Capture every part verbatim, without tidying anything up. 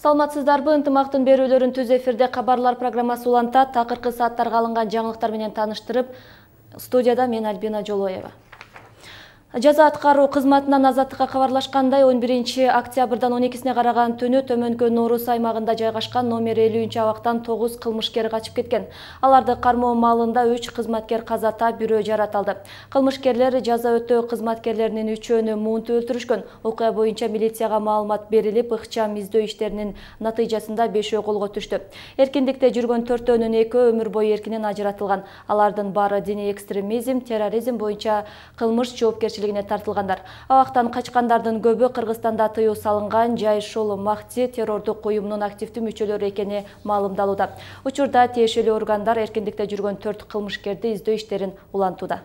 Саламатсыздарбы, ынтымактын берүүлөрүн түз эфирде кабарлар программасы улантат. Такыркы сааттарга алынган жаңылыктар менен тааныштырып, студияда мен Альбина Жолоева. Жаза аткаруу кызматынан азаттыкка кабарлашкандай он биринчи октябрдан он экисине караган түнү Төмөнкө Норус аймагында жайгашкан номер элүүнчү абактан тогуз кылмышкер качып кеткен. Аларды кармоо маалында үч кызматкер каза таап, бирөө жарат алды. Кылмышкерлер жаза өтөө кызматкерлеринин үчөөнү муунтуп өлтүрүшкөн. Окуя боюнча милицияга маалымат берилип, ыкчам издөө иштеринин натыйжасында бешөө колго түштү. Эркиндикте жүргөн төртөөнүн экөө өмүр бою эркинен ажыратылган. Алардын баары диний экстремизм, терроризм боюнча кылмыш жоопкерчилигине тартылгандар. Абактан качкандардын көбү Кыргызстанда тыюу салынган Жайыш ол Махти террордук уюмунун активдүү мүчөлөрү экени маалымдалууда. Учурда тиешелүү органдар эркиндикте жүргөн төрт кылмышкерди издөө иштерин улантууда.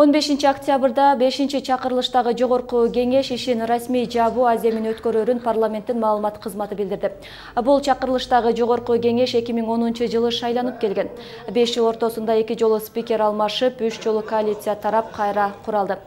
он бешинчи октябрда бешинчи чакырылыштагы жогорку кеңеш ишин расмий жабуу аземин өткөрөрүн парламенттин маалымат кызматы билдирди. Бул чакырылыштагы жогорку кеңеш эки миң онунчу жылы шайланып келген. беш жыл ортосунда эки жолу спикер алмашып, үч жолу коалиция тарап кайра куралды.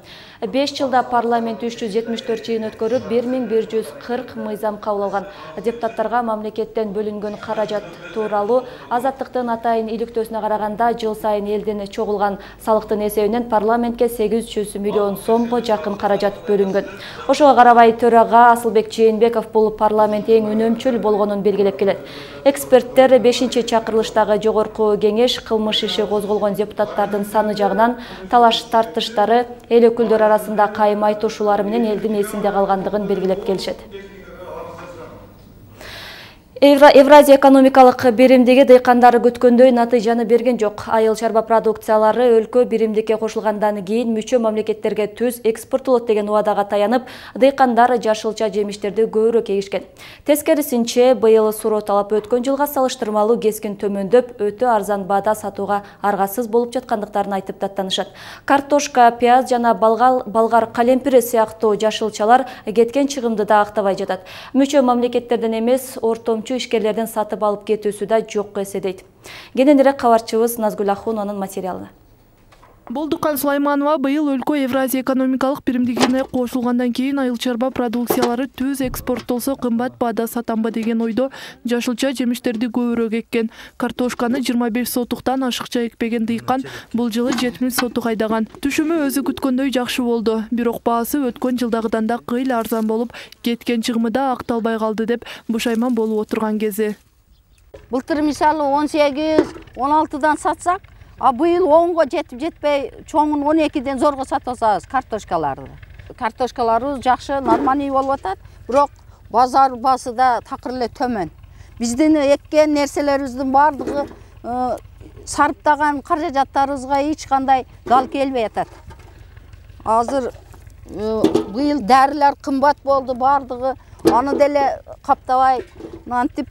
беш жылда парламент үч жүз жетимиш төрт жыйын өткөрүп, бир миң бир жүз кырк мыйзам кабыл алган. Депутаттарга мамлекеттен бөлүнгөн каражат тууралуу азаттыктын атайын иликтөөсүнө караганда жыл сайын элден чогулган салыктын эсебинен парламентке сегиз жүз миллион сомго жакын каражат бөлүнгөн. Ошого карабай төрага Асылбек Жээнбеков бул парламент эң үнөмчүл болгонун белгилеп келет. Эксперттер бешинчи чакырылыштагы жогорку кеңеш кылмыш иши козголгон депутаттардын саны жагынан талаш тартыштары эл өкүлдөрү арасында кайым айтышуулары менен элдин эсинде калгандыгын белгилеп келишет. Евразия экономикалык биримдиги дыйкандары күткөндөй натыйжаны берген жок. Айыл чарба продукциялары өлкө биримдикке кошулгандан кийин мүчө мамлекеттерге түз экспорттолот деген убадага таянып, дыйкандар жашылча жемиштерди көбүрөөк эгишкен. Тескерисинче, быйыл суроо талап өткөн жылга салыштырмалуу кескин төмөндөп, өтө арзан баада сатууга аргасыз болуп жаткандыктарын айтып даттанышат. Картошка, пияз жана балгал, болгар калемпири сыяктуу жашылчалар кеткен чыгымды да актабай жатат. Мүчө мамлекеттерден эмес, ортомчу ишкерлердин сатып алып кетүүсү да жок эседейт. Кененирээк кабарчыбыз Назгүл Ахуновнун материалына. Болдукан Сулайманова быйыл өлкө Евразия экономикалык биримдигине кошулгандан кийин айыл чарба продукциялары түз экспорттолсо кымбат баада сатамбы деген ойдо жашылча жемиштерди көбүрөөк эккен. Картошканы жыйырма беш сотуктан ашыкча экпеген дыйкан бул жылы жетимиш сотук айдаган. Түшүмү өзү күткөндөй жакшы болду. Бирок баасы өткөн жылдагыдан да кыйла арзан болуп, кеткен чыгымы да акталбай калды деп бушайман болуп отурган кези. Былтыр мисалы он сегиз он алтыдан сатсак, а быйыл онго жетип жетпей, чоңун он экиден зорго сатып атабыз картошкаларды. Картошкаларыбыз жакшы, нормальный болуп атат, бирок базар баасы да такыр эле төмөн. Биздин эккен нерселерибиздин баардыгы сарптаган каражаттарыбызга эч кандай гал келбей атат. Азыр быйыл дарылар кымбат болду, баардыгы аны деле каптабай, мынтип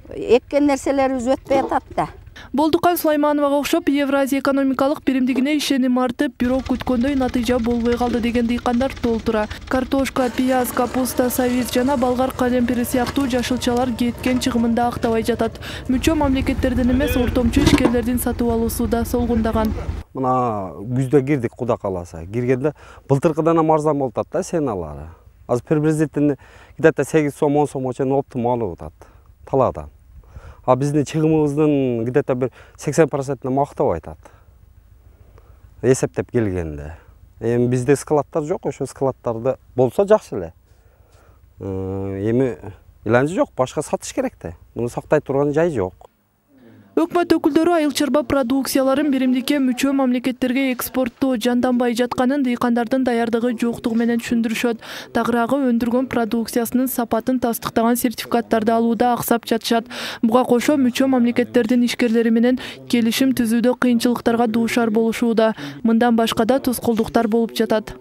эккен нерселерибиз өтпөй атат да. Болдукан Сулаймановага окшоп Евразия экономикалык биримдигине ишеним артып, бирок күткөндөй натыйжа болбой калды деген дыйкандар толтура. Картошка, пияз, капуста, савиз жана болгар калемпири сыяктуу жашылчалар кеткен чыгымында актабай жатат. Мүчө мамлекеттерден эмес, ортомчу ишкерлердин сатып алуусу да солгундаган. Мына күздө кирдик, Куда кааласа. Киргенде былтыркыдан да арзан болуп атат да сеналары. Азыр приблизительно где-то сегиз сом он сомго чейин оптимал болуп атат талаадан. А биздин чыгымыбыздын где-то бир сексен процентине мактап айтат. Эсептеп келгенде. Эми бизде складтар жок, ошо складтарды болсо жакшы эле. Эми иланчы жок, башка сатыш керек да. Муну сактай турган жай жок. Өкмөт өкүлдөрү айыл чарба продукцияларын биримдикке мүчө мамлекеттерге экспорттоо жанданбай жатканын, дыйкандардын даярдыгы жоктугу менен түшүндүрүшөт. Тагыраагы өндүргөн продукциясынын сапатын тастыктаган сертификаттарды алууда аксап жатышат. Буга кошо мүчө мамлекеттердин ишкерлери менен келишим түзүүдө кыйынчылыктарга дуушар болушууда. Мындан башка да тоскоолдуктар болуп жатат.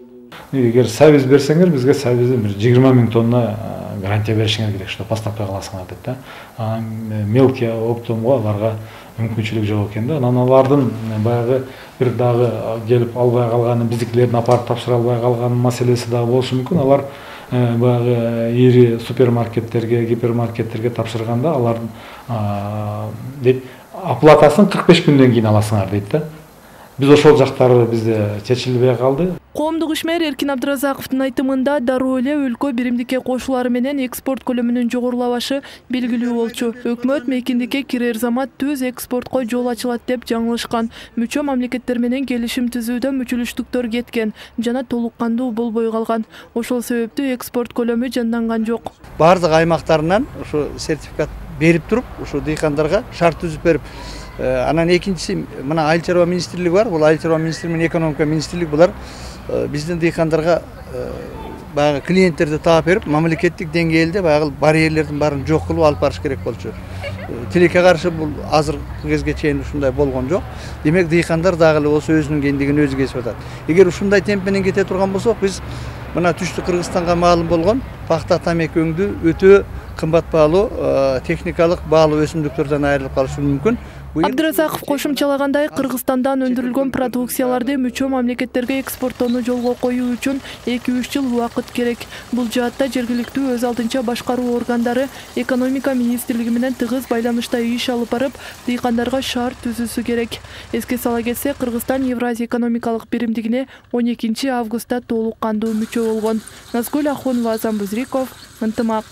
Эгер сабиз берсеңер, бизге сабизден бир жыйырма миң тонна гарантия беришиңер керек, что поставка кыласыңар деп да. Мелкий оптомго аларга мүмкүнчүлүк жок экен да. Анан алардын баягы бир дагы келип албай калганы, биздикилердин апарып тапшыра албай калган маселеси дагы болушу мүмкүн. Алар баягы ири супермаркеттерге, гипермаркеттерге тапшырганда алардын дейт, оплатасын кырк беш күндөн кийин аласыңар дейт да. биз ошол жактары бизде чечилбей калды. Коомдук ишмер Эркин Абдыразаковдун айтымында дароо эле өлкө биримдикке кошулары менен экспорт көлөмүнүн жогорулабашы белгилүү болчу. Өкмөт мейкиндикке кирер замат түз экспортко жол ачылат деп жаңылышкан. Мүчө мамлекеттер менен келишим түзүүдө мүчүлүштүктөр кеткен жана толук кандуу болбой калган. Ошол себептүү экспорт көлөмү жанданган жок. Бардык аймактарынан ушу сертификат берип туруп, ушу дыйкандарга шарт түзүп берип, анан экинчиси мына Айыл чарба министрлиги бар. Бул Айыл чарба министрлиги менен экономика министрлиги булар биздин дыйкандарга баягы клиенттерди таап берип, мамлекеттик деңгээлде баягы барьерлердин баарын жок кылып алып барыш керек болчу. Тилекке каршы бул азыркы кезге чейин ушундай болгон жок. Демек дыйкандар дагы эле болсо өзүнүн кендигин өзү кесип атат. Эгер ушундай темп менен кете турган болсок, биз мына түштүк Кыргызстанга маалым болгон пахта тамеки өңдүү өтө кымбат баалуу техникалык баалуу өсүмдүктөрдөн айрылып калышы мүмкүн. Абдыразаков кошумчалагандай, Кыргызстандан өндүрүлгөн продукцияларды мүчө мамлекеттерге экспорттоону жолго коюу үчүн эки үч жыл убакыт керек. Бул жаатта жергиликтүү өз алдынча башкаруу органдары экономика министрлиги менен тыгыз байланышта иш алып барып, дыйкандарга шарт түзүүсү керек. Эске сала кетсек, Кыргызстан Евразия экономикалык биримдигине он экинчи августта толук кандуу мүчө болгон. Назгүл Ахунова, Азам Бузриков, Ынтымак.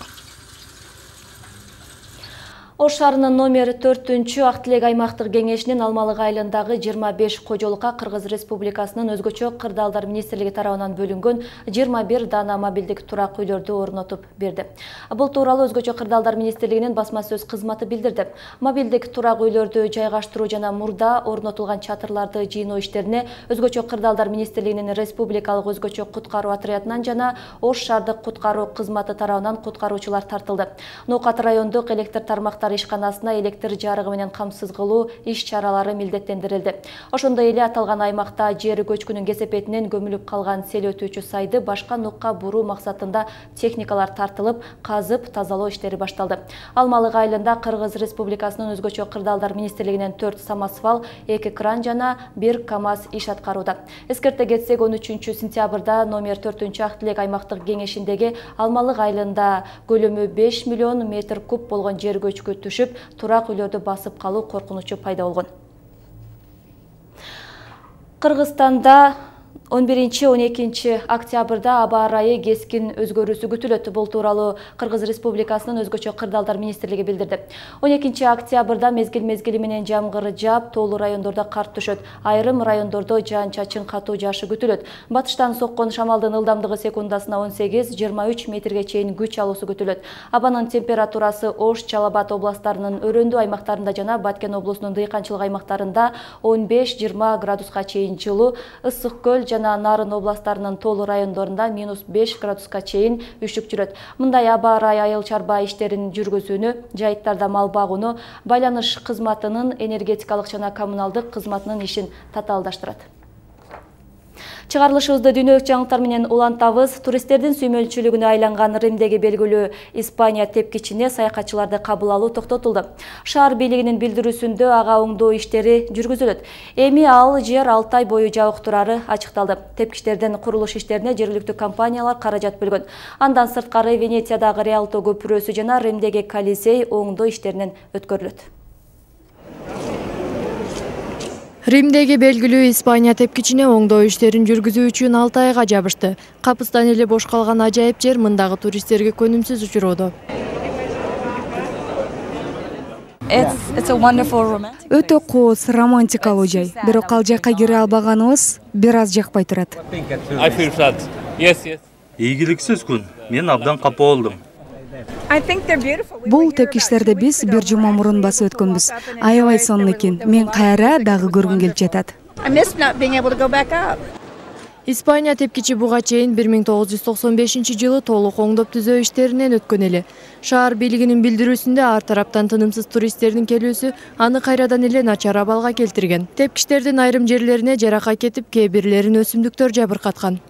Ош шаарынын номер төртүнчү Ак Тилек аймактык кеңешинин Алмалык айылындагы жыйырма беш кожолукка Кыргыз Республикасынын өзгөчө кырдаалдар министрлиги тарабынан бөлүнгөн жыйырма бир дана мобилдик турак үйлөрдү орнотуп берди. Бул тууралуу өзгөчө кырдаалдар министрлигинин басма сөз кызматы билдирди. Мобилдик турак үйлөрдү жайгаштыруу жана мурда орнотулган чатырларды жыйноо иштерине өзгөчө кырдаалдар министрлигинин республикалык өзгөчө куткаруу отрядынан жана Ош шаардык куткаруу кызматы тарабынан куткаруучулар тартылды. Ноокат райондук электр тармактары ишканасына электр жарыгы менен камсыз кылуу иш-чаралары милдеттендирилди. Ошондой эле аталган аймакта жер көчкүнүн кесепетинен көмүлүп калган сел өтүүчү сайды башка нукка буруу максатында техникалар тартылып, казып тазалоо иштери башталды. Алмалык айылында Кыргыз Республикасынын өзгөчө кырдаалдар министрлигинен төрт самосвал, эки кран жана бир КАМАЗ иш аткарууда. Эскерте кетсек, он үчүнчү сентябрда номер төртүнчү Ак Тилек аймактык кеңешиндеги Алмалык айылында көлөмү беш миллион метр куб болгон жер көчкү түшүп, турак үйлөрдү басып калуу коркунучу пайда болгон. Кыргызстанда он биринчи он экинчи октябрда аба ырайы кескин өзгөрүүсү күтүлөт. Бул тууралуу Кыргыз Республикасынын өзгөчө кырдаалдар министрлиги билдирди. он экинчи октябрда мезгил-мезгили менен жамгыр жаап, тоолуу райондордо кар түшөт. Айрым райондордо жаан-чачын катуу жаашы күтүлөт. Батыштан соккон шамалдын ылдамдыгы секундасына он сегиз жыйырма үч метрге чейин күч алуусу күтүлөт. Абанын температурасы Ош, Жалал Абад областарынын өрөөндүү аймактарында жана Баткен облусунун дыйканчылык аймактарында он беш жыйырма градуска чейин жылуу, Ысык көл жана Нарын областарынын тоолуу райондорунда минус беш градуска чейин үшүк жүрөт. Мындай аба ырайы айыл чарба иштерин жүргүзүүнү, жайыттарда мал багууну, байланыш кызматынын, энергетикалык жана коммуналдык кызматынын ишин татаалдаштырат. Чыгарылышыбызды дүйнөлүк жаңылыктар менен улантабыз. Туристтердин сүймөлчүлүгүнө айланган Римдеги белгилүү Испания тепкичине саякатчыларды кабыл алуу токтотулду. Шаар бийлигинин билдирүүсүндө ага оңдоо иштери жүргүзүлөт. Эми ал жер алты ай бою жабык турары ачыкталды. Тепкичтердин курулуш иштерине жергиликтүү компаниялар каражат бөлгөн. Андан сырткары Венециядагы Риалто көпүрөсү жана Римдеги Колизей оңдоо иштеринен өткөрүлөт. Римдеги белгилүү Испания тепкичине оңдоо иштерин жүргүзүү үчүн алты айга жабышты. Капыстан эле бош калган ажайып жер мындагы туристтерге көнүмсүз учуроодо. Өтө кооз, романтикалуу жай. Бирок ал жакка кире албаганыбыз бир аз жакпай турат. Ийгиликсиз күн. Мен абдан капа болдум. Бул тепкичтерди биз бир жума мурун басып өткөнбүз. Аябай сонун экен. Мен кайра дагы көргүм келип жатат. Испания тепкичи буга чейин бир миң тогуз жүз токсон бешинчи жылы толук оңдоп түзөө иштеринен өткөн эле. Шаар бийлигинин билдирүүсүндө ар тараптан тынымсыз туристтердин келүүсү аны кайрадан эле начар абалга келтирген. Тепкичтердин айрым жерлерине жаракат кетип, кээ бирлерин өсүмдүктөр жабыркаткан.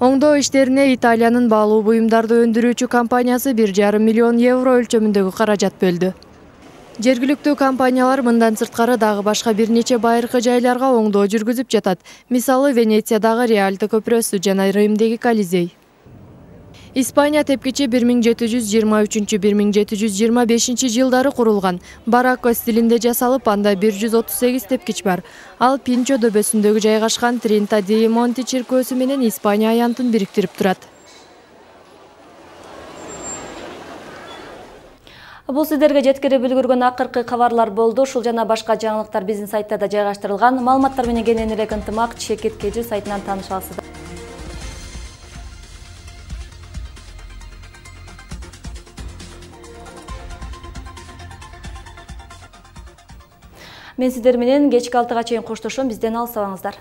Оңдоо иштерине Италиянын баалуу буюмдарды өндүрүүчү компаниясы бир жарым миллион евро өлчөмүндөгү каражат бөлдү. Жергиликтүү компаниялар мындан сырткары дагы башка бир нече байыркы жайларга оңдоо жүргүзүп жатат. Мисалы, Венециядагы Риалто көпүрөсү жана Римдеги Колизей. Испания тепкичи бир миң жети жүз жыйырма үчүнчү — бир миң жети жүз жыйырма бешинчи жылдары курулган. Баракко стилинде жасалып, анда бир жүз отуз сегиз тепкич бар. Ал Пинчо дөбөсүндөгү жайгашкан Тринта ди Монти чиркөөсү менен Испания аянтын бириктирип турат. Бул сиздерге жеткирип үлгүргөн акыркы кабарлар болду. Ушул жана башка жаңылыктар биздин сайттарда жайгаштырылган. Маалыматтар менен кенен эле ынтымак Чекит Кежи сайтынан тааныша аласыздар. Мен сиздер менен кечки алтыга чейин коштошом. Бизден алыстабаңыздар.